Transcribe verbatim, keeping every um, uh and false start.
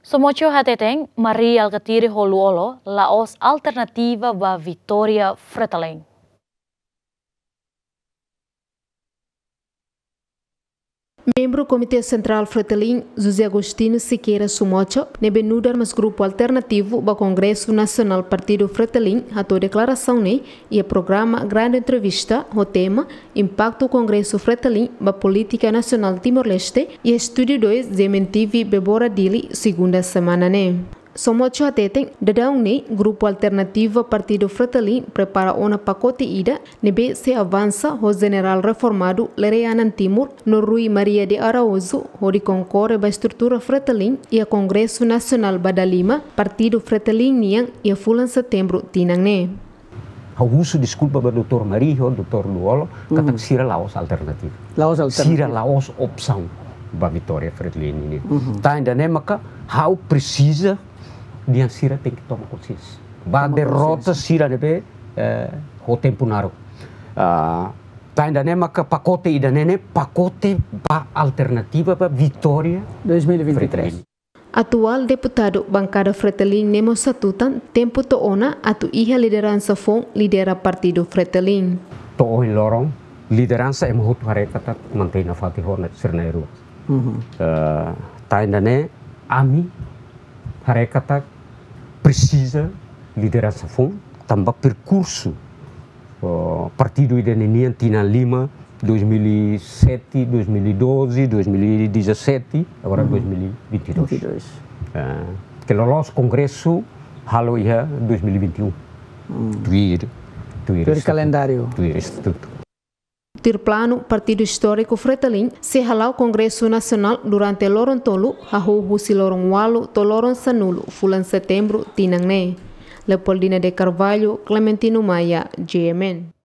Somoco hateten, Mari Alkatiri ho Lú-Olo la'ós alternativa ba vitória Fretilin. Membru Komité Sentrál Fretilin, José Agostinho Sequeira Somoco, ne'ebé nu'udar mós grupu alternativu ba Kongresu Nasionál Partidu Fretilin, hato'o deklarasaun ne'e iha programa Grande Entrevista ho tema Impaktu Kongresu Fretilin ba Polítika Nasionál Timor-Leste iha Estúdiu dois GMN TV Bebora, Dili, segunda semana ne'e. Somoco hateten, daudaun ne'e grupu alternativa Partidu Fretilin prepara ona pakote ida ne'ebé sei avansa ho Jenerál Reformadu Lere Anan Timur no Rui Maria de Araújo hodi konkorre ba estrutura Fretilin iha Kongresu Nasionál ba dalima Partidu Fretilin nian iha fulan Setembru tinan ne'e. Ha'u husu deskulpa ba doutór Mari ho doutór Lú-Olo, katak sira la'ós alternativa. La'ós alternativa. Sira la'ós opsaun ba vitória Fretilin nian. Tan ida-ne'e maka ha'u presiza dehan sira tenke toma konsiénsia ba derrota sira ne'ebé, eh, ho tempu naruk. Ah, tan ida-ne'e maka pakote ida-ne'e ne'e pakote ba alternativa ba vitória Fretilin. Atuál deputadu bankada Fretilin ne'e mós hatutan tempu to'o ona atu iha lideransa foun lidera Partidu Fretilin. To'o ohin loron lideransa ema hotu haree katak mantein nafatin ho sira na'in-rua. Eh, tan ida-ne'e ami haree katak presiza lideransa foun tanba perkursu, oh, partidu ida-ne'e nian tinan lima, dois mil e sete, dois mil e doze, dois mil e dezassete, agora dois mil e vinte e dois. Vinte e dois. Ah, ke loloos kongresu halo iha dois mil e vinte e um. Tuir, tuir kalendáriu. Tuir estatutu. Tuir planu, Partidu Istóriku Fretilin sei hala'o Kongresu Nasionál durante loron tolu, hahú husi loron ualu to'o loron sanulu fulan Setembru tinan ne'e. Leopoldina de Carvalho, Clementino Maia, GMN.